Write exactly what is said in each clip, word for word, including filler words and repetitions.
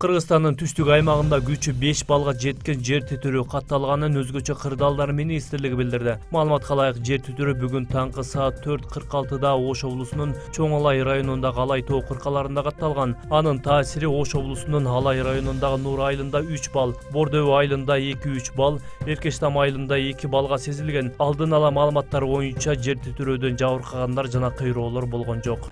Кыргызстандын түштүк аймагында күчү беш балга жеткен жер титирөө катталганын өзгөчө кырдаалдар министрлиги билдирди. Маалыматка ылайык, жер титирөө бүгүн таңкы саат төрт кырк алтыда Ош облусунун Чоң Алай районундагы Алай тоо кыркаларында катталган. Анын таасири Ош облусунун Алай районундагы Нур айылында үч балл, Бордөө айылында эки үч балл, Эркештам айылында эки баллга сезилген. Алдын ала маалыматтар боюнча жер титирөөдөн жабыркагандар жана кыйроолор болгон жок.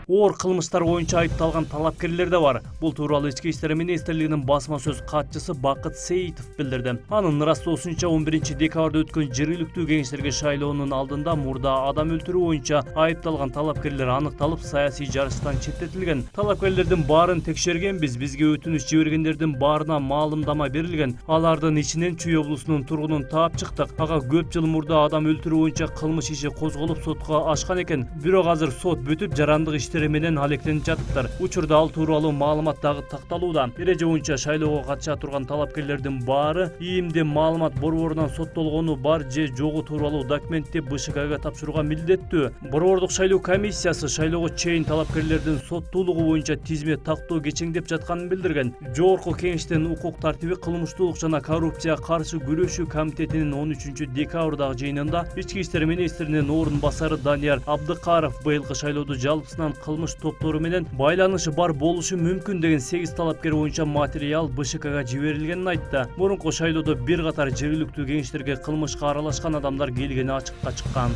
Оор кылмыштар боюнча айыпталган талапкерлер да бар. Бул тууралуу Ички иштер министрлигинин басма сөз катчысы Бакыт Сейитов билдирди. Анын ырастоосунча он биринчи декабрда өткөн жергиликтүү кеңештерге шайлоонун алдында мурда адам өлтүрүү боюнча айыпталган талапкерлер аныкталып, саясий жарыштан четтетилген. Талапкерлердин баарын текшергенбиз, бизге өтүнүч жибергендердин баарына маалымдама берилген. Алардын ичинен Чүй облусунун тургунун таап чыктык. Ага көп жыл мурда адам өлтүрүү боюнча кылмыш иши козголуп сотко ашкан экен. Бирок азыр сот бүтүп, жарандык иш менен алектенип жатыптыр. Учурда ал тууралуу маалымат дагы такталууда. Эреже боюнча шайлоого катыша турган талапкерлердин баары ИИМде маалымат борборунан соттолгону бар же жогу тууралуу документти БШКга тапшырууга милдеттүү. Борбордук шайлоо комиссиясы шайлоого чейин талапкерлердин соттуулугу боюнча тизме тактоо кечеңдеп жатканын билдирген. Жогорку кеңештин укук тартиби, кылмыштуулук жана коррупцияга каршы күрөшүү комитетинин он үчүнчү декабрдагы жыйынында Ички иштер министринин орун басары Данияр Абдыкаров быйылкы шайлоодо жалпысынан кылмыш топтору менен байланышы бар болушу мүмкүн деген сегиз талапкер боюнча материал БШКга жиберилгенин айтты. Мурунку шайлоодо бир катар жергиликтүү кеңештерге кылмышка аралашкан адамдар келгени ачыкка чыккан.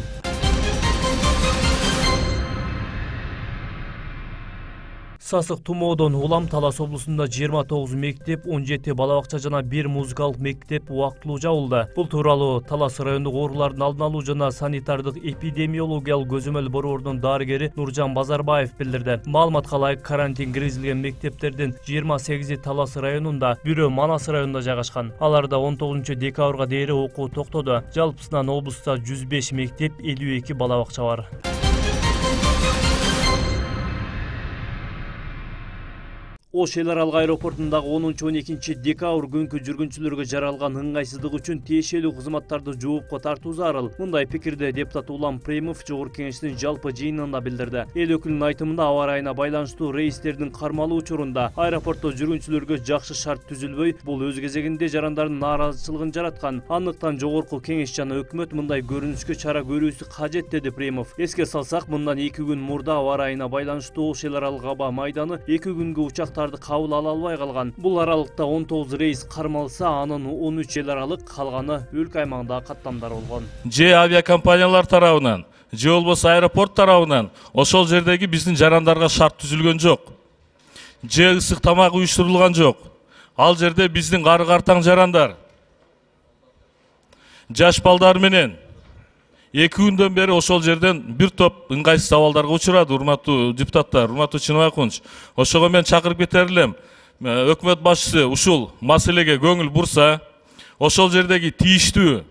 Сасык тумоодон улам Талас облусунда жыйырма тогуз мектеп, он жети бала бакча жана бир музыкалык мектеп убактылуу жабылды. Бул тууралуу Талас райондук оорулардын алдын алуу жана санитардык эпидемиологиялык көзөмөл борборунун дарыгери Нуржан Базарбаев билдирди. Маалыматка ылайык, карантин киргизилген мектептердин жыйырма сегизи Талас районунда, бирөө Манас районунда жайгашкан. Аларда он тогузунчу декабрга дейин окуу токтоду. Жалпысынан облуста жүз беш мектеп, элүү эки бала бакча бар. Ош эл аралык аэропортундагы онунчу он экинчи декабрь күнкү жүргүнчүлөргө жаралган ыңгайсыздык үчүн тиешелүү кызматтарды жоопко тартуу зарыл. Мындай пикирди депутат Улам Премов Жогорку кеңештин жалпы жыйынында билдирди. Эл өкүлүнүн айтымында, аба ырайына байланыштуу рейстердин кармалуу учурунда аэропортто жүргүнчүлөргө жакшы шарт түзүлбөй, бул өз кезегинде жарандардын нааразычылыгын жараткан. Андыктан Жогорку кеңеш жана өкмөт мындай көрүнүшкө чара көрүүсү кажет, деди Премов. Эске салсак, мындан эки күн мурда аба ырайына байланыштуу Ош эл аралык аба майданы эки күнгө учактар кабыл ала албай калган. Бул аралыкта он тогуз рейс кармалса, анын он үч эл аралык, калганы өлкө аймагындагы каттамдар болгон. Же авиакомпаниялар тарабынан, же болбосо аэропорт тарабынан ошол жердеги биздин жарандарга шарт түзүлгөн жок. Же ысык тамак уюштурулган жок. Ал жерде биздин кары картаң жарандар, жаш балдар менен эки күндөн бери ошол жерден бир топ ыңгайсыз абалдарга учурады, урматтуу депутаттар, урматтуу Чыныбай Кунч. Ошого мен чакырып кетер элем. Өкмөт башчысы ушул маселеге көңүл бурса, ошол жердеги тийиштүү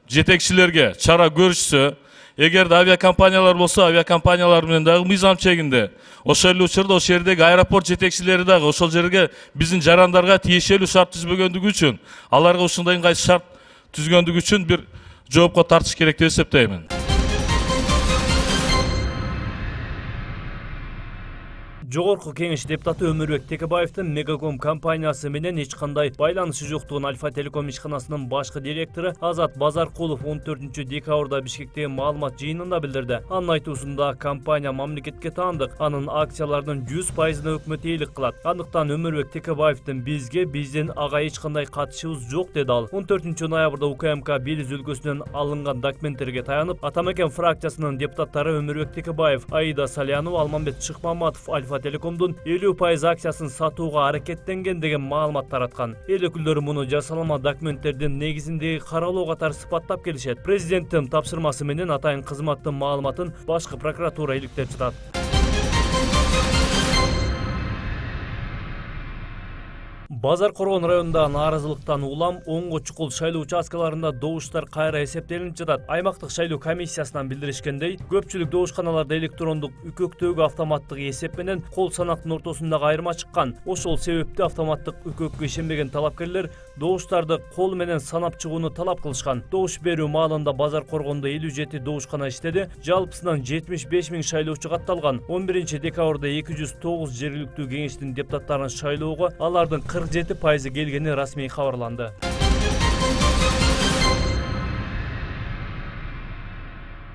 жетекчилерге чара көрүшсө, эгерде авиакомпаниялар болсо, авиакомпаниялар менен дагы мыйзам чегинде, ошол эле учурда ошол жердеги аэропорт жетекчилери дагы ошол жерге биздин жарандарга тиешелүү шарт түзбөгөндүгү үчүн, аларга ушундай ыңгайсыз шарт түзгөндүгү үчүн бир жоопко тартыш керек деп эсептеймин. Жогорку кеңеш депутаты Өмүрбек Текебаевдин Мегаком компаниясы менен эч кандай байланышы жоктугун Альфа Телеком ишканасынын башкы директору Азат Базаркулов он төртүнчү декабрда Бишкектеги маалымат жыйынында билдирди. Анын айтуусунда, компания мамлекетке таандык, анын акцияларынын жүз пайызына өкмөт ээлик кылат. Андыктан Өмүрбек Текебаевдин бизге, биздин ага эч кандай катышыбыз жок, деди ал. он төртүнчү ноябрда УКМК Белиз өлкөсүнөн алынган документтерге таянып, Атамекен фракциясынын депутаттары Өмүрбек Текебаев, Аида Салянова, Алмамбет Шыкмаматов Альфа Телекомдун элүү пайыз акциясын сатууга аракеттенген деген маалымат тараткан. Эл өкүлдөрү муну жасалма документтердин негизиндеги каралоо катары сыпаттап келишет. Президенттин тапшырмасы менен атайын кызматтын маалыматын башкы прокуратура иликтеп жатат. Базар Коргон районунда нааразылыктан улам онго чукул шайлоо участкаларында добуштар кайра эсептелип жатат. Аймактык шайлоо комиссиясынан билдиришкендей, көпчүлүк добушканаларда электрондук үкөктөгү автоматтык эсеп менен кол санактын ортосундагы айырма чыккан. Ошол себептен автоматтык үкөккө ишенбеген талапкерлер добуштарды кол менен санап чыгууну талап кылышкан. Добуш берүү маалында Базар Коргондо элүү жети добушкана иштеди. Жалпысынан жетимиш беш миң шайлоочу катталган. он биринчи декабрда эки жүз тогуз жергиликтүү кеңештин депутаттарын шайлоого алардын кырк жети пайызы келгени расмий кабарланды.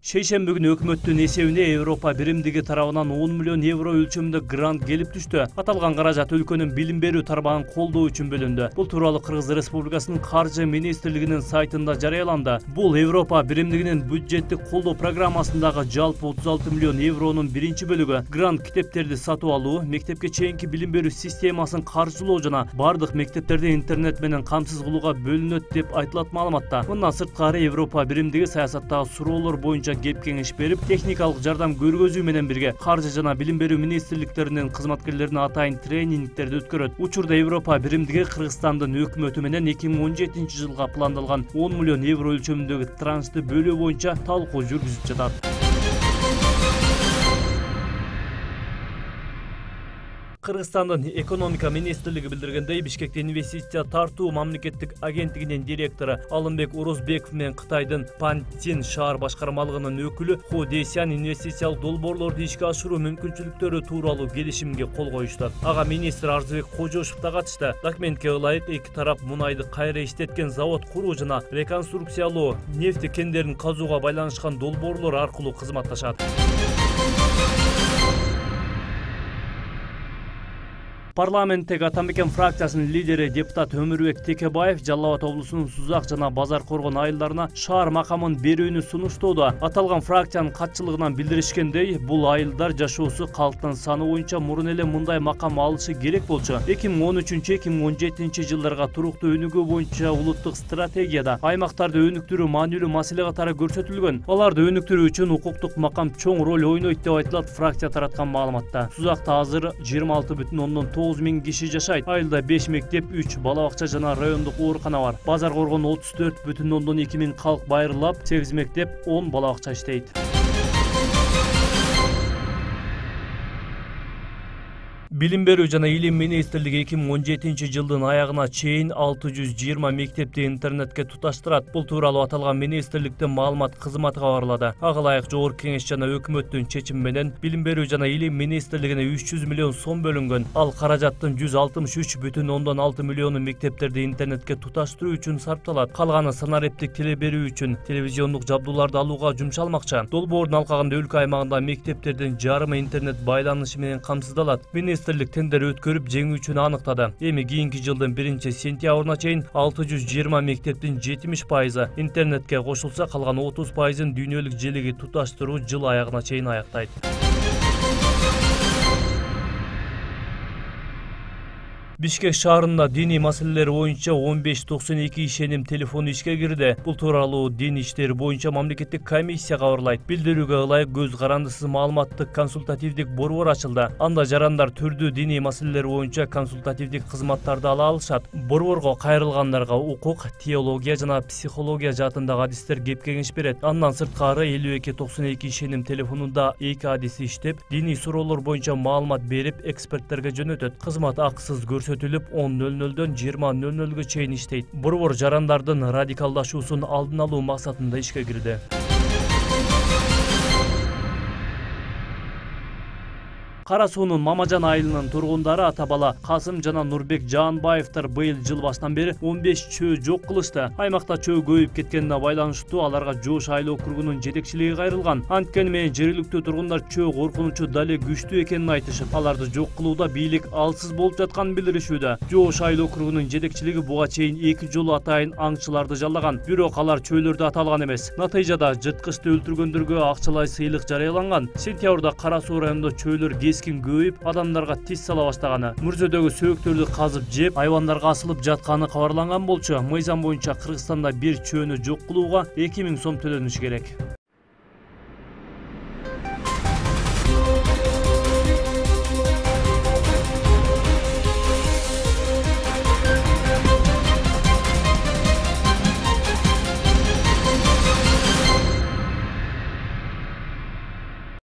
Шейшемби күнү өкмөттүн эсебине Европа биримдиги тарабынан он миллион евро өлчөмүндө грант келип түштү. Аталган каражат өлкөнүн билим берүү тармагын колдоо үчүн бөлүндү. Бул тууралуу Кыргыз Республикасынын каржы министрлигинин сайтында жарыяланды. Бул Европа биримдигинин бюджеттик колдоо программасындагы жалпы отуз алты миллион евронун биринчи бөлүгү. Грант китептерди сатып алуу, мектепке чейинки билим берүү системасын каржылоо жана бардык мектептерди интернет менен камсыз кылууга бөлүнөт деп айтылат маалыматта. Мындан сырткары Европа биримдиги саясаттагы суроолор боюнча кеп кеңеш берип, техникалык жардам көргөзүү менен бирге каржы жана билим берүү министрликтеринин кызматкерлерине атайын тренингтерди өткөрөт. Учурда Европа биримдиги Кыргызстандын өкмөтү менен эки миң он жетинчи жылга пландалган он миллион евро өлчөмүндөгү траншты бөлүү боюнча талкуу жүргүзүп жатат. Кыргызстандын экономика министрлиги билдиргендей, Бишкекте инвестиция тартуу мамлекеттик агенттигинин директору Алымбек Орозбеков менен Кытайдын Пантин шаар башкармалыгынын өкүлү Хо Десян инвестициялык долбоорлорду ишке ашыруу мүмкүнчүлүктөрү тууралуу келишимге кол коюшту. Ага министр Арзыбек Кожошев да катышты. Документке ылайык эки тарап мунайды кайра иштеткен завод куруу жана реконструкциялоо, нефти кендерин казууга байланышкан долбоорлор аркылуу кызматташат. Парламенттеги Атамекен фракциясынын лидери депутат Өмүрбек Текебаев Жалал Абад облусунун Сузак жана Базар Коргон айылдарына шаар макамын берүүнү сунуштоодо. Аталган фракциянын катчылыгынан билдиришкендей, бул айылдар жашоосу калктын саны боюнча мурун эле мындай макам алышы керек болчу. эки миң он үчүнчү эки миң он жетинчи жылдарга туруктуу өнүгүү боюнча улуттук стратегияда аймактарды өнүктүрүү маанилүү маселе катары көрсөтүлгөн. Аларды өнүктүрүү үчүн укуктук макам чоң роль ойнойт деп айтылат фракция тараткан маалыматта. Сузакта азыр жыйырма алты бүтүн ондон тогуз миң киши жашайт. Айылда беш мектеп, үч бала бакча жана райондук оорукана бар. Базар Коргон отуз төрт бүтүн ондон эки миң калк байрылап, сегиз мектеп, он бала бакча иштейт. Билим берүү жана илим министрлиги эки миң он жетинчи жылдын аягына чейин алты жүз жыйырма мектепти интернетке туташтырат. Бул тууралуу аталган министрликтин маалымат кызматы кабарлады. Ага ылайык Жогорку Кеңеш жана өкмөттүн чечими менен Билим берүү жана илим министрлигине үч жүз миллион сом бөлүнгөн. Ал каражаттын жүз алтымыш үч бүтүн ондон алты миллиону мектептерди интернетке туташтыруу үчүн сарпталат. Калганы санариптик теле берүү үчүн, телевизиондук жабдууларды алууга жумшалмакчы. Долбоордун алкагында өлкө аймагында мектептердин жарымы интернет байланышы менен камсыздалат. Министрлик тендер өткөрүп жеңүүчүнү аныктады. Эми кийинки жылдын биринчи сентябрына чейин алты жүз жыйырма мектептин жетимиш пайызы интернетке кошулса, калган отуз пайызын дүйнөлүк желеге туташтыруу жыл аягына чейин аяктайт. Бишкек шаарында диний маселелер боюнча он беш токсон эки ишеним телефону ишке кирди. Бул тууралуу дин иштери боюнча мамлекеттик комиссия кабарлайт. Билдирүүгө ылайык көз карандысыз маалыматтык консультативдик борбор ачылды. Анда жарандар түрдүү диний маселелер боюнча консультативдик кызматтарды ала алышат. Борборго кайрылгандарга укук, теология жана психология жаатындагы адистер кеп кеңеш берет. Андан сырткары элүү эки токсон эки ишеним телефонунда эки адис иштеп, диний суроолор боюнча маалымат берип, эксперттерге жөнөтөт. Кызмат акысыз көрсөтүлүп, он нөл нөлдөн жыйырма нөл нөлгө чейин иштейт. Борбор жарандардын радикалдашуусун алдын алуу максатында ишке кирди. Кара суунун Мамажан айылынын тургундары ата бала Касым жана Нурбек Жаанбаевдер быйыл жыл башынан бери он беш чөө жок кылышты. Аймакта чөө көбөйүп кеткенине байланыштуу аларга Жоош айыл округунун жетекчилиги кайрылган. Анткени менен жергиликтүү тургундар чөө коркунучу дале күчтүү экенин айтышып, аларды жок кылууда бийлик алсыз болуп жатканын билдиришүүдө. Жоош айыл округунун жетекчилиги буга чейин эки жолу атайын аңчыларды жаллаган. Бирок алар чөөлөрдү аталган эмес. Натыйжада жырткычты өлтүргөндөргө акчалай сыйлык жарыяланган. Сентябрда Кара суу районунда чөөлөр кескин көбөйүп, адамдарга тис сала баштаганы, мүрзөдөгү сөөктөрдү казып жеп, айвандарга асылып жатканы кабарланган болчу. Мыйзам боюнча Кыргызстанда бир чөөнү жок кылууга эки миң сом төлөнүшү керек.